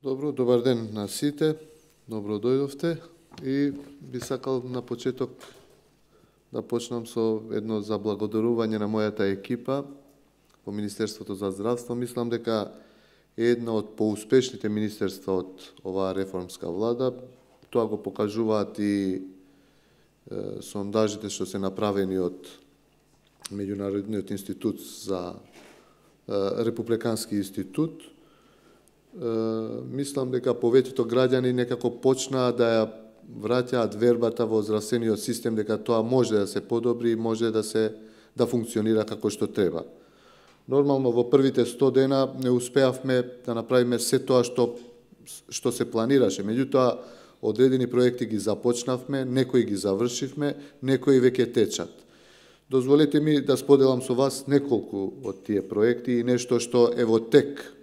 Добар ден на сите, добро дојдовте и би сакал на почеток да почнам со едно заблагодарување на мојата екипа по Министерството за здравство. Мислам дека е една од поуспешните министерства од оваа реформска влада. Тоа го покажуваат и сондажите што се направени од Меѓународниот институт за Републикански институт. Мислам дека повеќето граѓани некако почнаа да ја враќаат вербата во здравствениот систем дека тоа може да се подобри и може да функционира како што треба. Нормално во првите 100 дена не успеавме да направиме се тоа што се планираше. Меѓутоа, одредени проекти ги започнавме, некои ги завршивме, некои веќе течат. Дозволете ми да споделам со вас неколку од тие проекти и нешто што е во тек.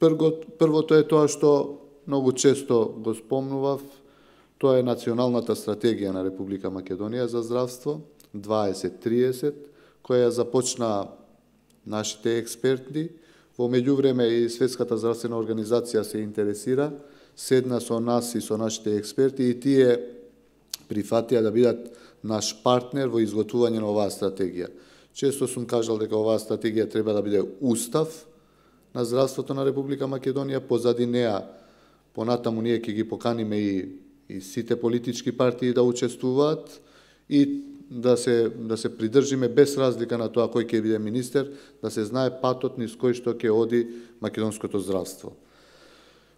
Првото е тоа што многу често го спомнував, тоа е Националната стратегија на Република Македонија за здравство 2030, која започна нашите експерти. Во меѓувреме и Светската здравствена организација се интересира, седна со нас и со нашите експерти и тие прифатија да бидат наш партнер во изготвување на оваа стратегија. Често сум кажал дека оваа стратегија треба да биде устав на здравството на Република Македонија, позади неа понатаму ние ќе ги поканиме и сите политички партии да учествуваат и да се придржиме без разлика на тоа кој ќе биде министер, да се знае патот низ кој што ќе оди македонското здравство.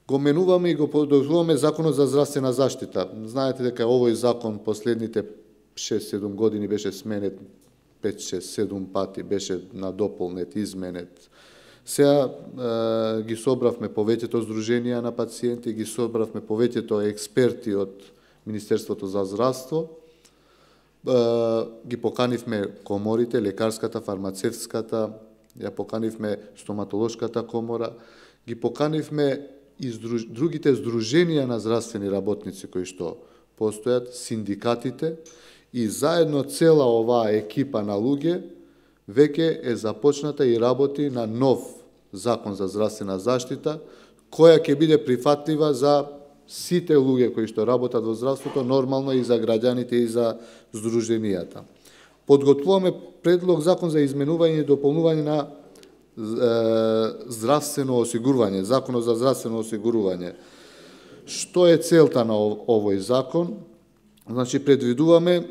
Го менуваме и го подобруваме Законот за здравствена заштита. Знаете дека овој закон последните 6-7 години беше сменет 5-6-7 пати, беше надополнет, изменет. Сега ги собравме повеќето здруженија на пациенти, ги собравме повеќето експерти од Министерството за здравство, ги поканивме коморите, лекарската, фармацевската, ја поканивме стоматолошката комора, ги поканивме и другите здруженија на здравствени работници кои што постојат, синдикатите, и заедно цела оваа екипа на луѓе веќе е започната и работи на нов закон за здравствена заштита, која ќе биде прифатлива за сите луѓе кои што работат во здравството, нормално и за граѓаните и за здруженијата. Подготвуваме предлог закон за изменување и дополнување на здравствено осигурување, Законот за здравствено осигурување. Што е целта на овој закон? Значи, предвидуваме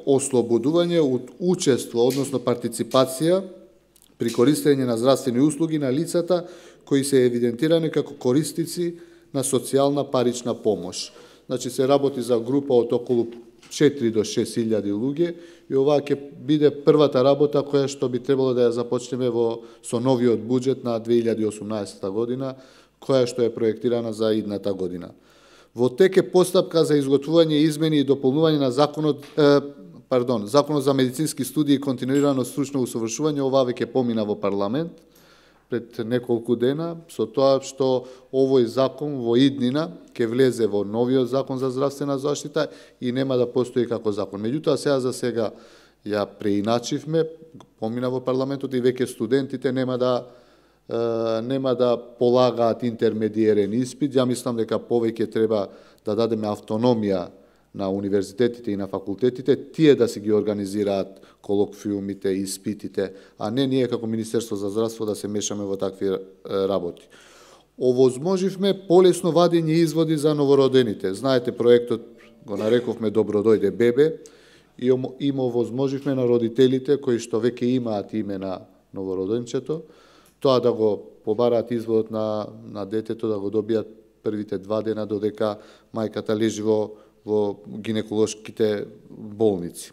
ослободување од учество, односно партиципација при користење на здравствени услуги на лицата кои се евидентирани како корисници на социјална парична помош. Значи, се работи за група од околу 4 до 6.000 луѓе и оваа ќе биде првата работа која што би требало да ја започнеме со новиот буџет на 2018 година, која што е проектирана за идната година. Во тек е постапка за изготвување измени и дополнување на Законот за медицински студии и континуирано стручно усовршување. Ова веќе помина во парламент пред неколку дена, со тоа што овој закон во иднина ќе влезе во новиот закон за здравствена заштита и нема да постои како закон. Меѓутоа, сега ја преиначивме, помина во парламентот и веќе студентите нема да полагаат интермедиерен испит. Ја мислам дека повеќе треба да дадеме автономија на универзитетите и на факултетите, тие да си ги организираат колоквиумите, испитите, а не ние како Министерство за здравство да се мешаме во такви работи. Овозможивме полесно вадење изводи за новородените. Знаете, проектот го нарекувме Добро дојде бебе и им овозможивме на родителите кои што веќе имаат име на новороденчето, тоа да го побараат изводот на детето, да го добијат првите 2 дена додека мајката лежи во гинеколошките болници.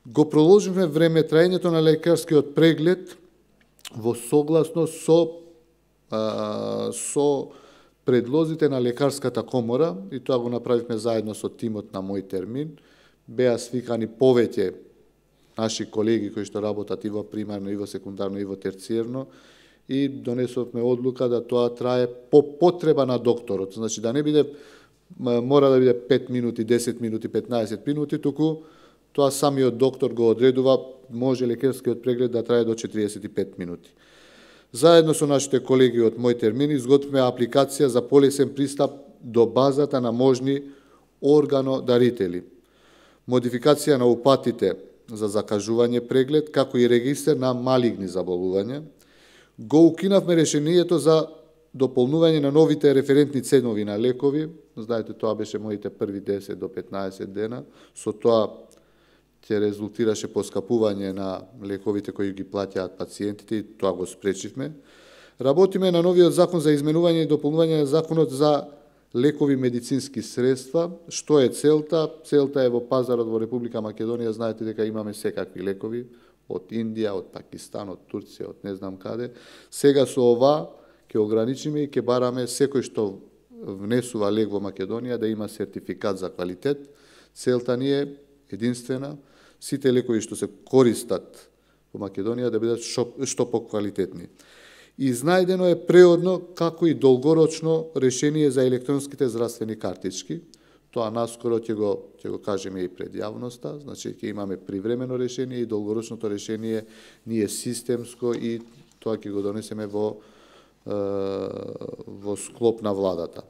Го проложивме време траењето на лекарскиот преглед во согласност со предлозите на лекарската комора и тоа го направивме заедно со тимот на Мој термин. Беа свикани повеќе наши колеги кои што работат и во примарно, и во секундарно, и во терциерно и донесовме одлука да тоа трае по потреба на докторот. Значи, да не биде мора да биде 5 минути, 10 минути, 15 минути, туку тоа самиот доктор го одредува, може лекарскиот преглед да трае до 45 минути. Заедно со нашите колеги од Мој термин изготвивме апликација за полесен пристап до базата на можни органодарители, модификација на упатите за закажување преглед, како и регистер на малигни заболувања. Го укинавме решението за дополнување на новите референтни ценови на лекови. Знаете, тоа беше моите први 10 до 15 дена. Со тоа ќе резултираше поскапување на лековите кои ги плаќаат пациентите и тоа го спречивме. Работиме на новиот закон за изменување и дополнување на законот за лекови медицински средства. Што е целта? Целта е во пазарот во Република Македонија, знаете дека имаме секакви лекови, од Индија, од Пакистан, од Турција, од не знам каде. Сега со ова ќе ограничиме и ќе бараме секој што внесува лек во Македонија да има сертификат за квалитет. Целта ни е единствена, сите лекови што се користат во Македонија да бидат што поквалитетни. Изнајдено е преодно како и долгорочно решение за електронските здравствени картички. Тоа наскоро ќе го кажеме и пред јавноста, значи ќе имаме привремено решение и долгорочното решение ни е системско и тоа ќе го донесеме во склоп на владата.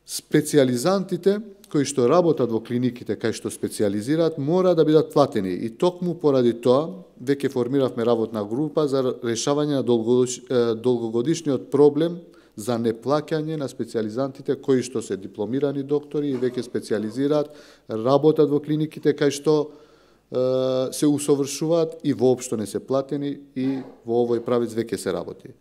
Специјализантите кои што работат во клиниките кај што специјализираат мора да бидат платени и токму поради тоа веќе формиравме работна група за решавање на долгогодишниот проблем за неплаќање на специјализантите кои што се дипломирани доктори и веќе специјализираат, работат во клиниките кај што се усовршуваат и воопшто не се платени и во овој правец веќе се работи.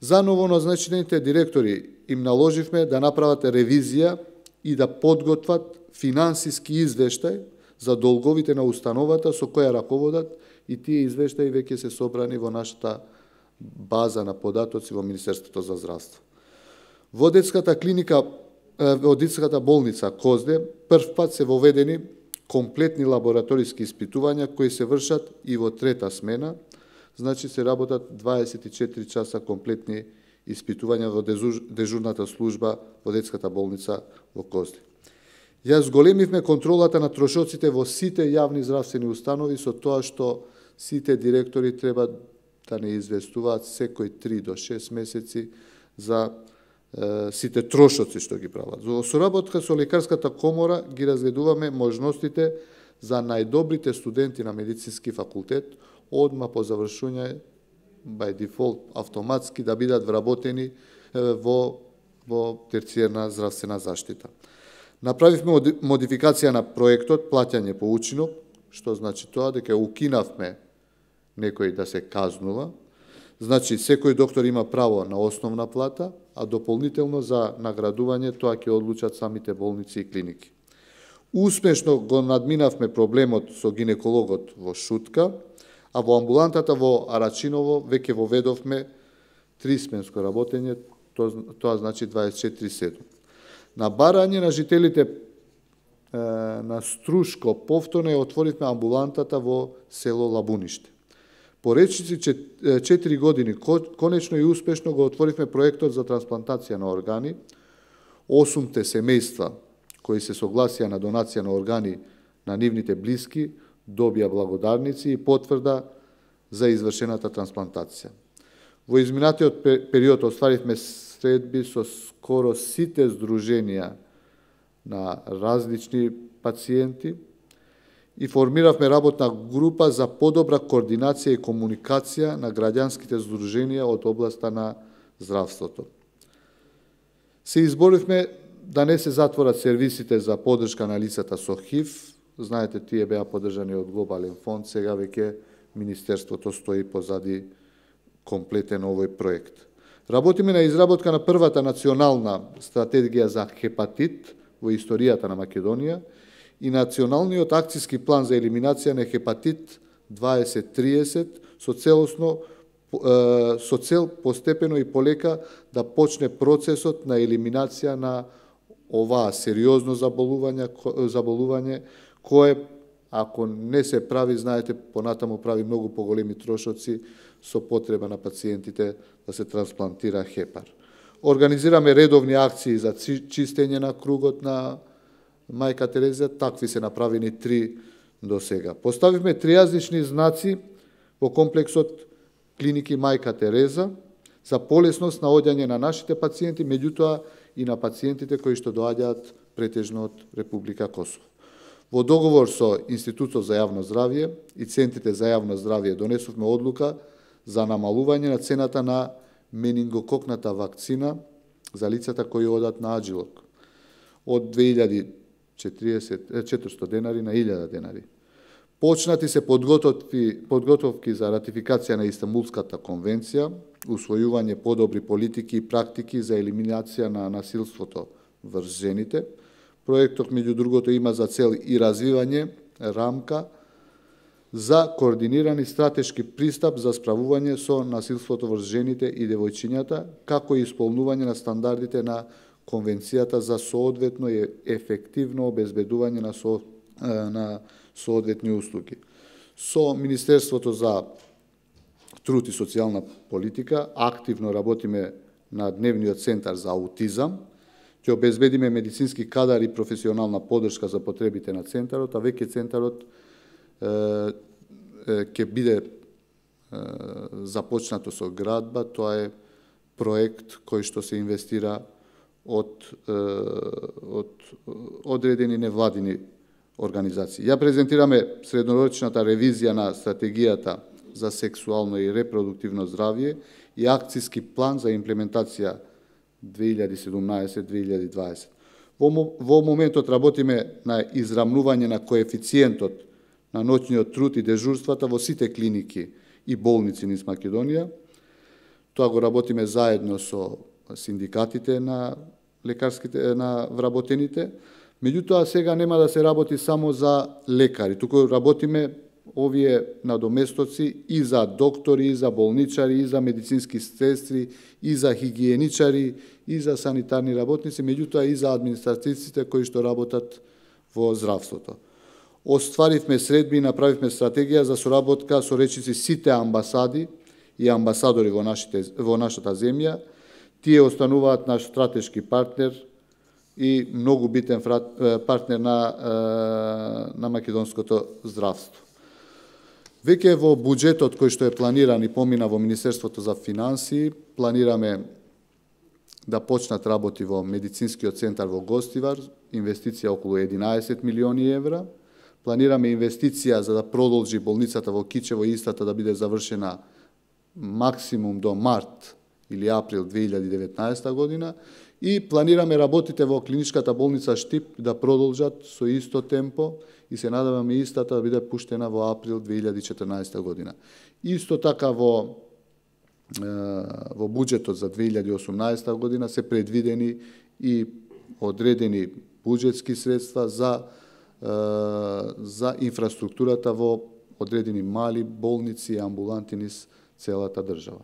За новоназначените директори им наложивме да направат ревизија и да подготват финансиски извештај за долговите на установата со која раководат и тие извештаи веќе се собрани во нашата база на податоци во Министерството за здравство. Во детската клиника, во детската болница Козде, прв пат се воведени комплетни лабораториски испитувања кои се вршат и во трета смена, значи се работат 24 часа комплетни испитувања во дежурната служба во детската болница во Козде. Ја зголемивме контролата на трошоците во сите јавни здравствени установи со тоа што сите директори треба да не известуваат секој 3 до 6 месеци за сите трошоци што ги прават. Во соработка со Лекарската комора ги разгледуваме можностите за најдобрите студенти на медицински факултет одма по завршување by default автоматски да бидат вработени во терцијерна здравствена заштита. Направивме модификација на проектот плаќање по учинок, што значи тоа дека укинавме некој да се казнува. Значи секој доктор има право на основна плата, а дополнително за наградување тоа ќе одлучат самите болници и клиники. Успешно го надминавме проблемот со гинекологот во Шутка, а во амбулантата во Арачиново веќе воведовме трисменско работење, тоа значи 24/7. На барање на жителите на Струшко повторно ја отворивме амбулантата во село Лабуниште. По речиси 4 години конечно и успешно го отворивме проектот за трансплантација на органи. 8 семејства кои се согласија на донација на органи на нивните блиски добија благодарници и потврда за извршената трансплантација. Во изминатиот период остваривме средби со скоро сите здруженија на различни пациенти и формиравме работна група за подобра координација и комуникација на граѓанските здруженија од областа на здравството. Се изборивме да не се затворат сервисите за поддршка на лицата со ХИВ. Знаете, тие беа поддржани од Глобален фонд, сега веќе Министерството стои позади комплетен овој проект. Работиме на изработка на првата национална стратегија за хепатит во историјата на Македонија и националниот акцијски план за елиминација на хепатит 2030 со цел постепено и полека да почне процесот на елиминација на оваа сериозно заболување кое, ако не се прави, знаете, понатаму прави многу поголеми трошоци со потреба на пациентите да се трансплантира хепар. Организираме редовни акции за чистење на кругот на Мајка Терезија, такви се направени 3 до сега. Поставивме тријазични знаци во комплексот клиники Мајка Тереза за полесност на одјање на нашите пациенти, меѓутоа и на пациентите кои што доаѓаат претежно од Република Косово. Во договор со Институтот за јавно здравје и Центрите за јавно здравје донесовме одлука за намалување на цената на менингококната вакцина за лицата кои одат на Аджилок од 2400 денари на 1000 денари. Почнати се подготовки за ратификација на Истанбулската конвенција, усвојување подобри политики и практики за елиминација на насилството врз жените. Проектот, меѓу другото, има за цел и развивање рамка за координиран и стратешки пристап за справување со насилството врз жените и девојчињата, како и исполнување на стандардите на Конвенцијата за соодветно и ефективно обезбедување на соодветни услуги. Со Министерството за труд и социјална политика активно работиме на Дневниот центар за аутизам, ќе обезбедиме медицински кадар и професионална поддршка за потребите на центарот, а веќе центарот ќе биде започнато со градба. Тоа е проект кој што се инвестира од одредени невладини организации. Ја презентираме среднорочната ревизија на стратегијата за сексуално и репродуктивно здравје и акциски план за имплементација 2017-2020. Во моментот работиме на израмнување на коефициентот на ноќниот труд и дежурствата во сите клиники и болници низ Македонија. Тоа го работиме заедно со синдикатите на лекарските на вработените. Меѓутоа сега нема да се работи само за лекари, туку работиме овие надоместоци и за доктори, и за болничари, и за медицински сестри, и за хигиеничари, и за санитарни работници, меѓутоа и за административците кои што работат во здравството. Остваривме средби и направивме стратегија за соработка со речиси сите амбасади и амбасадори во нашата земја. Тие остануваат наш стратешки партнер и многу битен партнер на македонското здравство. Веќе во буџетот кој што е планиран и помина во Министерството за финансии, планираме да почнат работи во медицинскиот центар во Гостивар, инвестиција околу 11 милиони евра. Планираме инвестиција за да продолжи болницата во Кичево, истата да биде завршена максимум до март или април 2019 година, и планираме работите во клиничката болница Штип да продолжат со исто темпо и се надеваме истата да биде пуштена во април 2014 година. Исто така во буџетот за 2018 година се предвидени и одредени буџетски средства за инфраструктурата во одредени мали болници и амбуланти низ целата држава.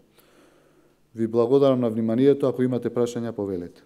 Ви благодарам на вниманието, ако имате прашања, повелете.